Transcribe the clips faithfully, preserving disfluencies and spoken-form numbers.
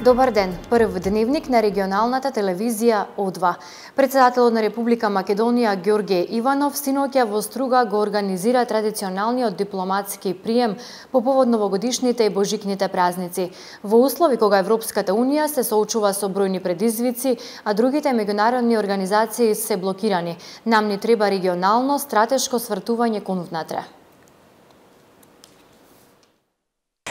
Добар ден, прв дневник на регионалната телевизија О два. Председателот на Република Македонија Ѓорѓе Иванов синоќа во Струга го организира традиционалниот дипломатски прием по повод новогодишните и божикните празници. Во услови кога Европската унија се соочува со бројни предизвици, а другите меѓународни организации се блокирани, нам ни треба регионално стратешко свртување кон внатре.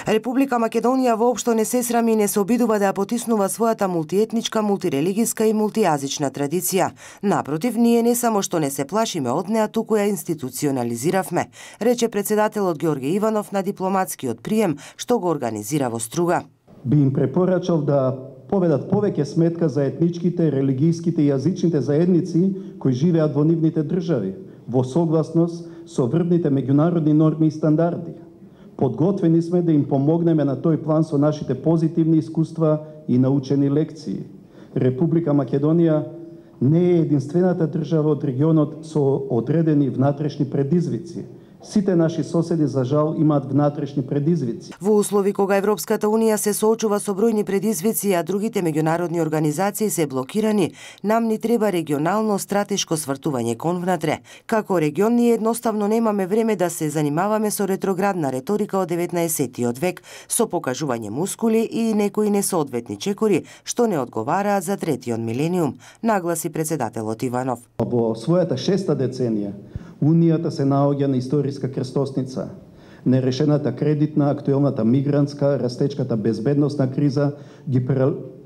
Република Македонија воопшто не се срами и не се обидува да ја потиснува својата мултиетничка, мултирелигиска и мултијазична традиција. Напротив, ние не само што не се плашиме од неа, туку ја институционализиравме, рече председателот Ѓорѓе Иванов на дипломатскиот прием што го организира во Струга. Би им препорачал да поведат повеќе сметка за етничките, религијските и јазичните заедници кои живеат во нивните држави, во согласност со врвните меѓународни норми и стандарди. Подготвени сме да им помогнеме на тој план со нашите позитивни искуства и научени лекции. Република Македонија не е единствената држава од регионот со одредени внатрешни предизвици. Сите наши соседи, за жал, имаат внатрешни предизвици. Во услови кога Европската унија се соочува со бројни предизвици, а другите меѓународни организации се блокирани, нам ни треба регионално стратешко свртување кон внатре. Како регион, ние едноставно немаме време да се занимаваме со ретроградна реторика од деветнаесеттиот век, со покажување мускули и некои несоодветни чекори, што не одговараат за третиот милениум, нагласи председателот Иванов. Во својата шеста деценија, Унијата се наоѓа на историска крстосница. Нерешената кредитна, актуелната мигрантска, растечката безбедносна криза ги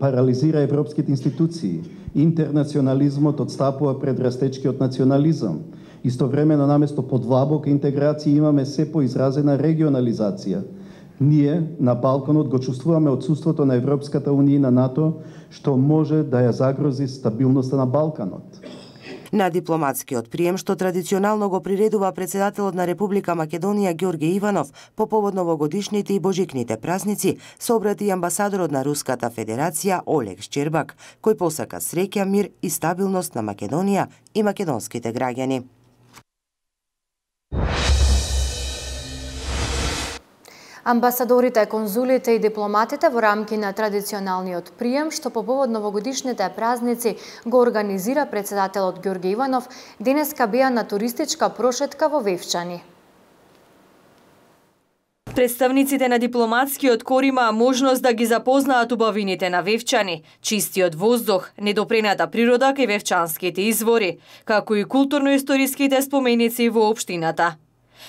парализира европските институции. Интернационализмот отстапува пред растечкиот национализам. Истовремено, наместо подлабока интеграција, имаме се поизразена регионализација. Ние на Балканот го чувствуваме отсуството на Европската унија и на НАТО, што може да ја загрози стабилноста на Балканот. На дипломатскиот прием, што традиционално го приредува председателот на Република Македонија Ѓорѓе Иванов по повод новогодишните и божикните празници, се обрати и амбасадорот на Руската Федерација Олег Шчербак, кој посака среќа, мир и стабилност на Македонија и македонските граѓани. Амбасадорите, конзулите и дипломатите во рамки на традиционалниот прием, што по повод новогодишните празници го организира председателот Ѓорѓе Иванов, денеска беа на туристичка прошетка во Вевчани. Представниците на дипломатскиот кор имаа можност да ги запознаат убавините на Вевчани, чистиот воздух, недопрената природа кај вевчанските извори, како и културно-историските споменици во општината.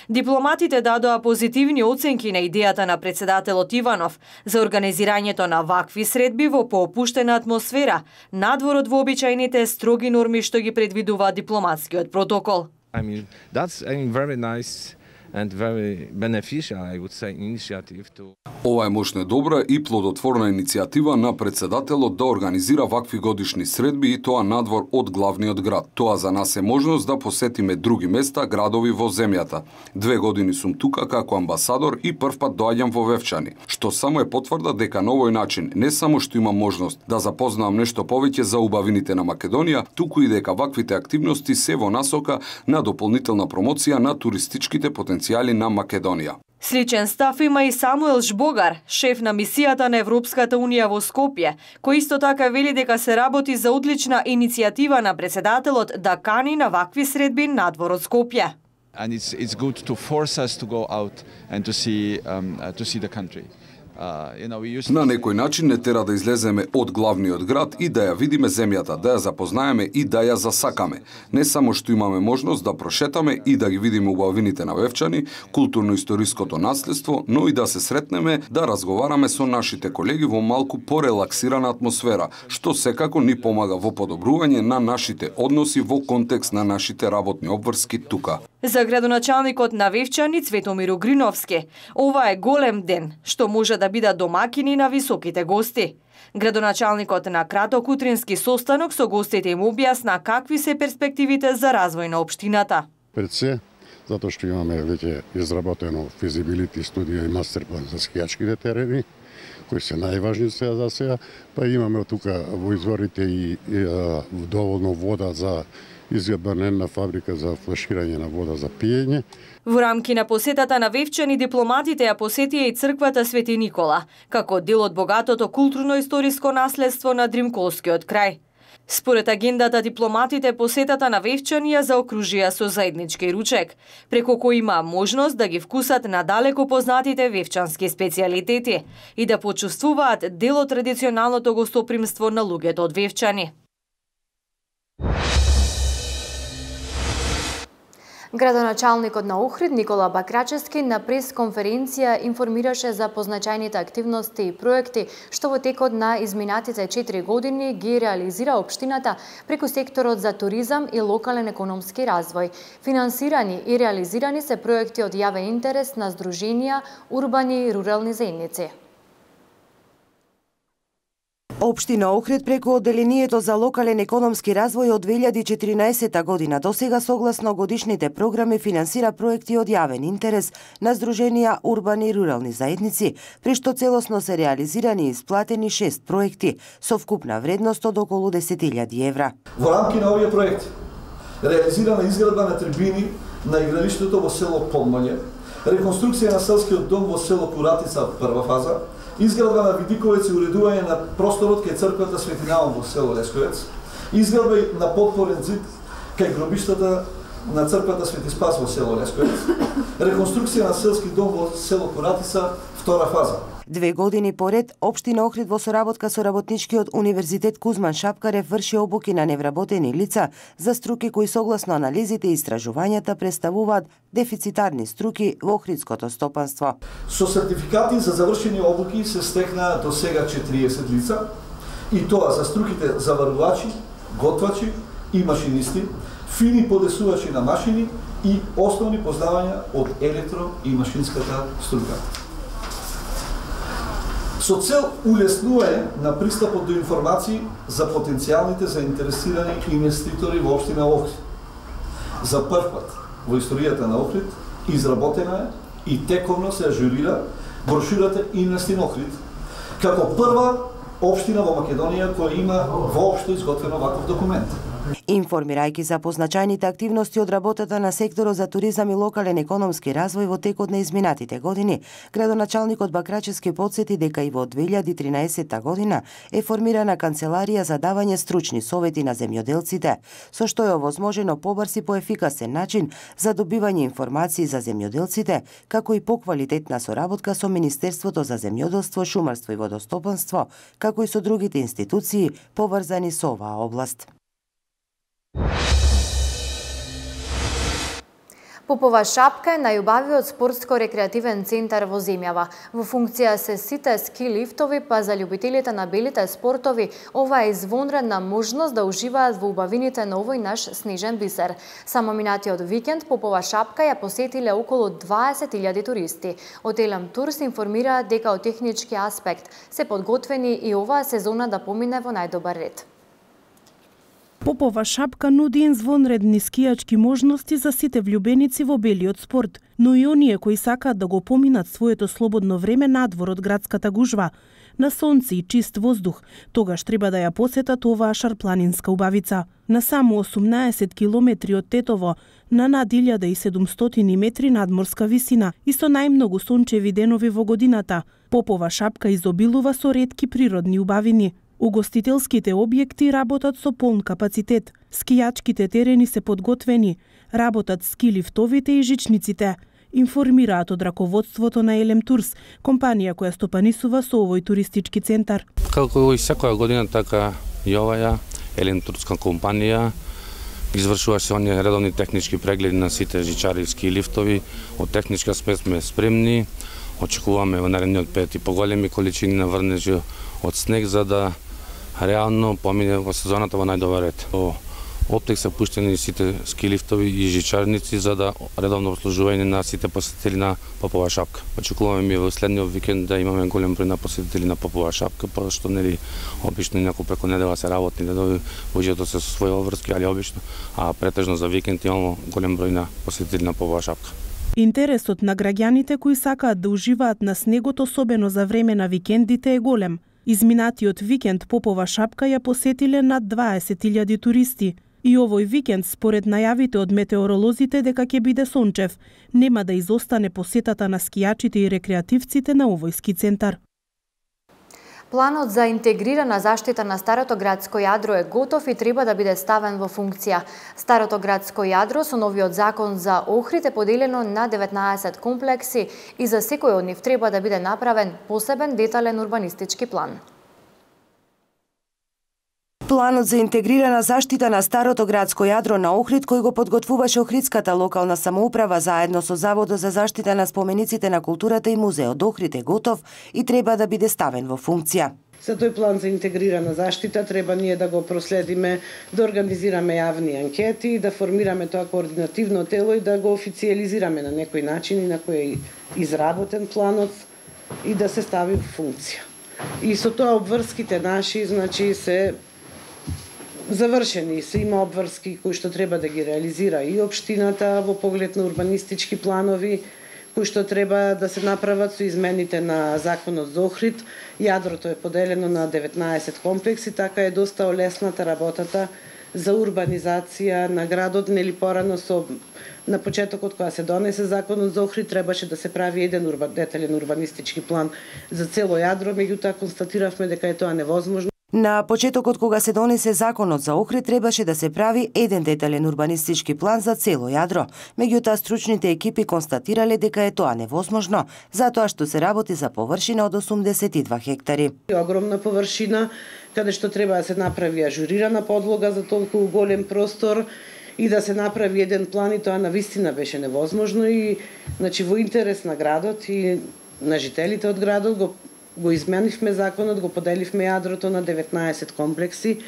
Дипломатите дадоа позитивни оценки на идејата на председателот Иванов за организирањето на вакви средби во поопуштена атмосфера, надвор од вообичајните строги норми што ги предвидува дипломатскиот протокол. I mean, that's a very nice and very beneficial, I would say, initiative to... Ова е мощна, добра и плодотворна иницијатива на председателот да организира вакви годишни средби и тоа надвор од главниот град. Тоа за нас е можност да посетиме други места, градови во земјата. Две години сум тука како амбасадор и првпат доаѓам во Вевчани, што само е потврда дека на овој начин не само што имам можност да запознавам нешто повеќе за убавините на Македонија, туку и дека ваквите активности се во насока на дополнителна промоција на туристичките потенцијали на Македонија. Сличен став има и Самуел Жбогар, шеф на мисијата на Европската унија во Скопје, кој исто така вели дека се работи за одлична иницијатива на председателот да кани на вакви средби надвор од Скопје. And it's it's good to force us to go out and to see um, uh, to see the country. На некој начин не тера да излеземе од главниот град и да ја видиме земјата, да ја запознаеме и да ја засакаме. Не само што имаме можност да прошетаме и да ги видиме убавините на Вевчани, културно-историското наследство, но и да се сретнеме, да разговараме со нашите колеги во малку порелаксирана атмосфера, што секако ни помага во подобрување на нашите односи во контекст на нашите работни обврски тука. За градоначалникот на Вевчани Цветомир Угриновски, ова е голем ден, што може да бидат домакини на високите гости. Градоначалникот на краток утрински состанок со гостите им објасна какви се перспективите за развој на општината. Пред се, затоа што имаме веќе изработено физибилити студија и мастерплан за скијачките терени, кои се најважни сега за сега, па имаме тука во изворите и, и а, доволно вода за изградба на една фабрика за флаширање на вода за пиење. Во рамки на посетата на Вевчани, дипломатите ја посетија и црквата Свети Никола, како дел од богатото културно-историско наследство на Дримколскиот крај. Според агендата, дипломатите посетата на Вевчани ја заокружија со заеднички ручек, преку кој има можност да ги вкусат надалеко познатите вевчански специјалитети и да почувствуваат дел од традиционалното гостопримство на луѓето од Вевчани. Градоначалникот на Охрид Никола Бакрачевски на прес-конференција информираше за позначајните активности и проекти што во текот на изминатите четири години ги реализира општината преку секторот за туризам и локален економски развој. Финансирани и реализирани се проекти од јавен интерес на здруженија, урбани и рурални заедници. Општина Охрид преку Одделението за локален економски развој од две илјади и четиринаесета година до сега согласно годишните програми финансира проекти од јавен интерес на здруженија, урбани и рурални заедници, при што целосно се реализирани и исплатени шест проекти со вкупна вредност од околу десет илјади евра. Во рамки на овие проекти реализирана изградба на трибини на игралиштето во село Подмање, реконструкција на селскиот дом во село Куратица прва фаза, изградба на видиковец и уредување на просторот кај црквата Свети Наум во село Лесковец, изградба на подпорен зид кај гробиштата на црквата Свети Спас во село Лесковец, реконструкција на селски дом во село Куратица втора фаза. Две години поред, Општина Охрид во соработка со работничкиот универзитет Кузман Шапкарев врши обуки на невработени лица за струки кои согласно анализите и истражувањата представуваат дефицитарни струки во охридското стопанство. Со сертификати за завршени обуки се стекна до сега четириесет лица, и тоа за струките заварувачи, готвачи и машинисти, фини подесувачи на машини и основни познавања од електро и машинската струка. Со цел улеснување на пристапот до информации за потенцијалните заинтересирани инвеститори во општина Охрид. За прв пат во историјата на Охрид изработена е и тековно се ажурира брошурата Инвестин Охрид, како прва општина во Македонија која има воопшто изготвено ваков документ. Информирајќи за позначајните активности од работата на секторот за туризам и локален економски развој во текот на изминатите години, градоначалникот Бакрачевски потсети дека и во две илјади и тринаесета година е формирана канцеларија за давање стручни совети на земјоделците, со што е овозможено побрз и поефикасен начин за добивање информации за земјоделците, како и поквалитетна соработка со Министерството за земјоделство, шумарство и водостопанство, како и со другите институции поврзани со оваа област. Попова шапка е најубавиот спортско-рекреативен центар во земјава. Во функција се сите ски лифтови, па за љубителите на белите спортови, ова е извонредна можност да уживаат во убавините на овој наш снежен бисер. Само минатиот викенд Попова шапка ја посетиле околу дваесет илјади туристи. Од Елем Тур се информираат дека од технички аспект се подготвени и оваа сезона да помине во најдобар ред. Попова шапка нуди извонредни скијачки можности за сите влюбеници во белиот спорт, но и оние кои сакаат да го поминат своето слободно време надвор од градската гужва, на сонце и чист воздух, тогаш треба да ја посетат оваа шарпланинска убавица. На само осумнаесет километри од Тетово, на над илјада и седумстотини метри надморска висина и со најмногу сончеви денови во годината, Попова шапка изобилува со ретки природни убавини. Угостителските објекти работат со полн капацитет, скијачките терени се подготвени, работат ски лифтовите и жичниците, информираат од раководството на Елем Турс, компанија која стопанисува со овој туристички центар. Како и секоја година, така и оваја Елем Турска компанија извршува се оние редовни технички прегледи на сите жичари и ски лифтови. Од техничка аспект сме спремни. Очекуваме во наредниот период и поголеми количини на врнежи од снег за да реално помине во сезоната во најдобар ред. Во оптек се пуштени сите ски лифтови и жичарници за да редовно обслужување на сите посетители на Попова шапка. Очекуваме ми во следниот викенд да имаме голем број на посетители на Попова шапка, пошто нели обично некој преку недела се работни недови, луѓето се со своји обврски, али обично, а претежно за викенд имаме голем број на посетители на Попова шапка. Интересот на граѓаните кои сакаат да уживаат на снегот, особено за време на викендите, е голем. Изминатиот викенд Попова шапка ја посетиле над дваесет илјади туристи. И овој викенд, според најавите од метеоролозите дека ќе биде сончев, нема да изостане посетата на скијачите и рекреативците на овој ски центар. Планот за интегрирана заштита на Старото градско јадро е готов и треба да биде ставен во функција. Старото градско јадро со новиот закон за Охрид е поделено на деветнаесет комплекси и за секој од нив треба да биде направен посебен детален урбанистички план. Планот за интегрирана заштита на Старото градско јадро на Охрид, кој го подготвуваше Охридската локална самоуправа заедно со Заводот за заштита на спомениците на културата и музеот Охрид е готов и треба да биде ставен во функција. За тој план за интегрирана заштита треба ние да го проследиме, да организираме јавни анкети, да формираме тоа координативно тело и да го официализираме на некој начин и на кој е изработен планот и да се стави во функција. И со тоа обврските наши, значи, се завршени, се има обврски кои што треба да ги реализира и општината во поглед на урбанистички планови, кои што треба да се направат со измените на законот за Охрид. Јадрото е поделено на деветнаесет комплекси, така е доста олесната работата за урбанизација на градот, нели порано со на почетокот кога се донесе законот за Охрид требаше да се прави еден урба, детален урбанистички план за цело јадро, меѓутоа констатиравме дека е тоа невозможно. На почетокот кога се донесе законот за Охрид требаше да се прави еден детален урбанистички план за цело јадро. Меѓутоа стручните екипи констатирале дека е тоа невозможно, затоа што се работи за површина од осумдесет и два хектари. Огромна површина каде што треба да се направи ажурирана подлога за толку голем простор и да се направи еден план, и тоа навистина беше невозможно и значи во интерес на градот и на жителите од градот го го изменивме законот, го поделивме јадрото на деветнаесет комплекси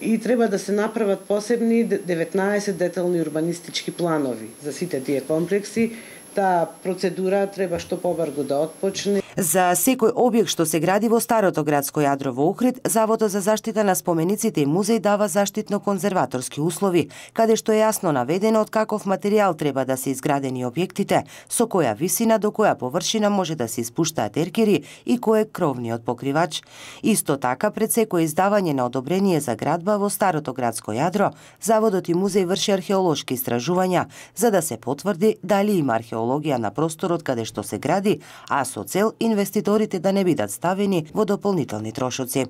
и треба да се направат посебни деветнаесет детални урбанистички планови за сите тие комплекси. Таа процедура треба што побрзо да отпочне. За секој објект што се гради во Старото градско јадро во Охрид, Заводот за заштита на спомениците и музеј дава заштитно-конзерваторски услови, каде што е јасно наведено од каков материјал треба да се изградени објектите, со која висина до која површина може да се испуштаат еркери и кој е кровниот покривач. Исто така, пред секој издавање на одобрение за градба во Старото градско јадро, Заводот и музеј врши археолошки истражувања, за да се потврди дали има археологија на просторот каде што се гради, а со цел инвеститорите да не бидат ставени во дополнителни трошоци.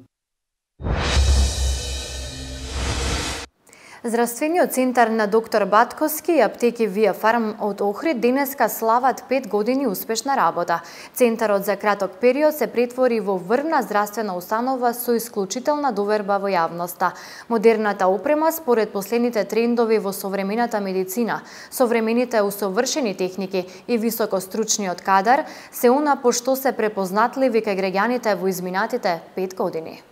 Здравствениот центар на доктор Батковски и аптеки Вија Фарм од Охрид денеска слават пет години успешна работа. Центарот за краток период се претвори во врвна здравствена установа со исклучителна доверба во јавноста. Модерната опрема според последните трендови во современата медицина, современите усовршени техники и високостручниот кадар се она по што се препознатливи кај граѓаните во изминатите пет години.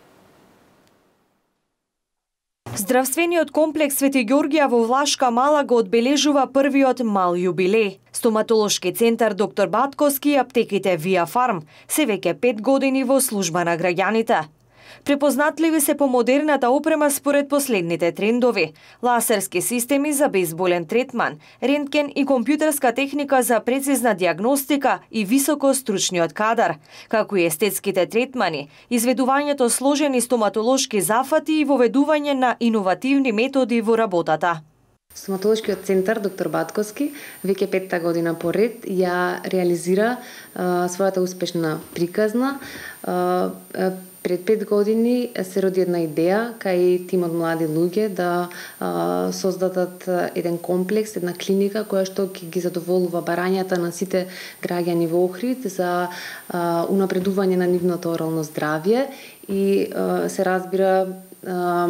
Здравствениот комплекс Свети Ѓорѓија во Влашка Мала го одбележува првиот мал јубилеј. Стоматолошки центар доктор Батковски и аптеките Вија Фарм се веќе пет години во служба на граѓаните. Препознатливи се по модерната опрема според последните трендови, лазерски системи за безболен третман, рентген и компјутерска техника за прецизна диагностика и високостручниот кадар, како и естетските третмани, изведувањето сложени стоматолошки зафати и воведување на иновативни методи во работата. Стоматолошкиот центар доктор Батковски веќе петта година поред ја реализира а, својата успешна приказна. А, а, Пред пет години се роди една идеја кај тимот млади луѓе да а, создадат еден комплекс, една клиника која што ќе ги задоволува барањата на сите граѓани во Охрид за а, унапредување на нивното орално здравје и а, се разбира а,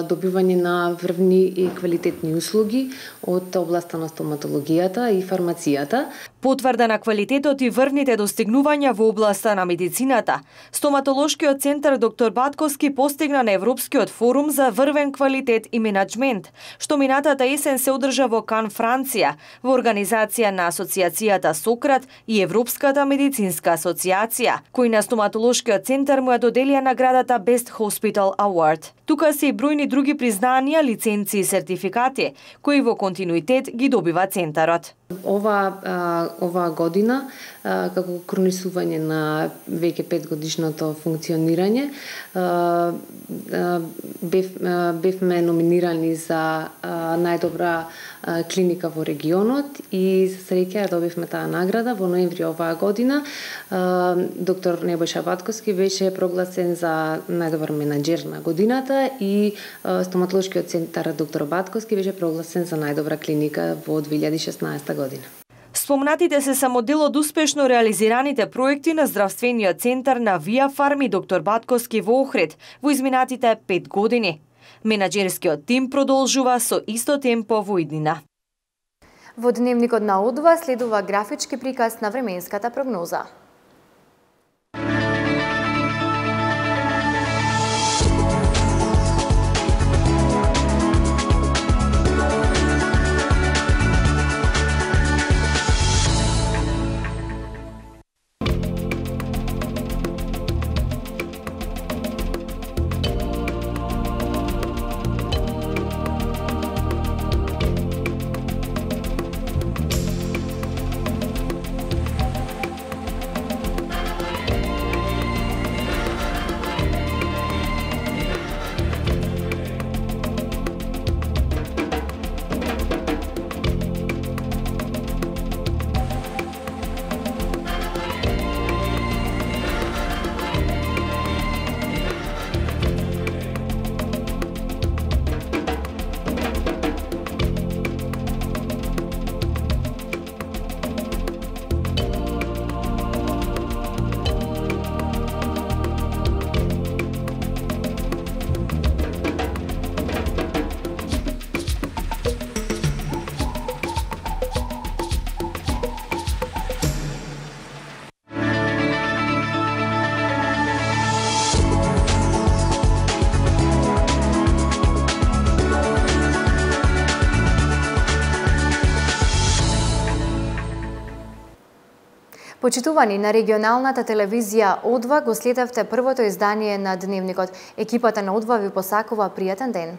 добивање на врвни и квалитетни услуги од областа на стоматологијата и фармацијата. Потврда на квалитетот и врвните достигнувања во областа на медицината, Стоматолошкиот центар доктор Батковски постигна на Европскиот форум за врвен квалитет и менаџмент, што минатата есен се одржа во Кан, Франција, во организација на Асоциацијата Сократ и Европската медицинска асоциација, кои на Стоматолошкиот центар му ја доделија наградата Best Hospital Award. Тука се и бројни други признања, лиценци и сертификати, кои во континуитет ги добива центарот. Ова ова година како кронисување на веќе пет годишното функционирање бев бевме номинирани за најдобра клиника во регионот и со среќа ја добивме таа награда во ноември оваа година. Доктор Небојша Батковски беше прогласен за најдобар менаџер на годината и стоматолошкиот центар доктор Батковски беше прогласен за најдобра клиника во две илјади и шеснаесета година. Спомнатите се само дел од успешно реализираните проекти на здравствениот центар на Вија Фарми доктор Батковски во Охрид во изминатите пет години. Менаџерскиот тим продолжува со исто темпо во иднина. Во дневникот на О два следува графички приказ на временската прогноза. Почитувани, на регионалната телевизија О два го следевте првото издание на Дневникот. Екипата на О два ви посакува пријатен ден.